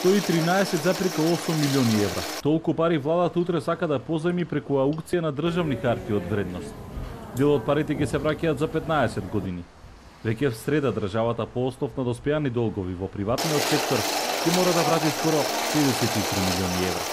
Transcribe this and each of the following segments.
113,8 милиони евра. Толку пари владата утре сака да позајми преку аукција на државни харти од вредност. Дел од парите ќе се враќаат за 15 години. Веќе в среда државата по основ на доспеани долгови во приватниот сектор ќе мора да врати скоро 53 милиони евра.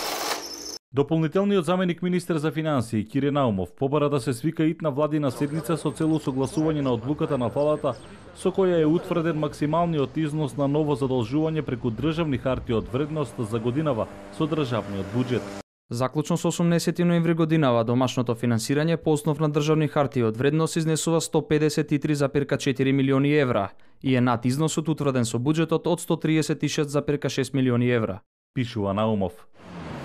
Дополнителниот заменик министер за финансии Кире Наумов побара да се свика итна владина седница со цел согласување на одлуката на владата со која е утврден максималниот износ на ново задолжување преку државни харти од вредност за годинава со државниот буџет. Заклучно со 18 ноември годинава домашното финансирање по основ на државни харти од вредност изнесува 153,4 милиони евра и е над износот утврден со буџетот од 136,6 милиони евра. Пишува Наумов.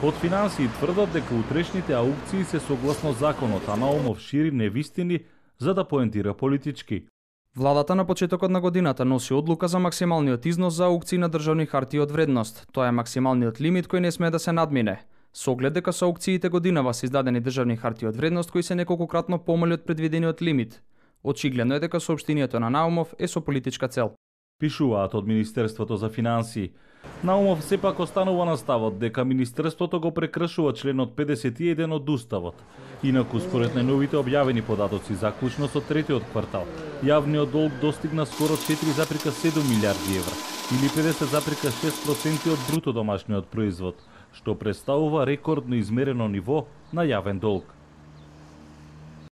Од финансии тврдат дека утрешните аукции се согласно законот, а Наумов шири невистини за да поентира политички. Владата на почетокот на годината носи одлука за максималниот износ за аукции на државни харти од вредност. Тоа е максималниот лимит кој не смее да се надмине. Со оглед дека со аукциите годинава се издадени државни харти од вредност кои се неколкократно помали од предвидениот лимит. Очигледно е дека соопштението на Наумов е со политичка цел. Пишуваат од Министерството за финансии. Наумов сепак останува на ставот дека Министерството го прекршува членот 51 од Уставот. Инаку, според најновите објавени податоци заклучно со третиот квартал, јавниот долг достигна скоро 4,7 милиарди евра, или 50,6% од бруто домашниот производ, што представува рекордно измерено ниво на јавен долг.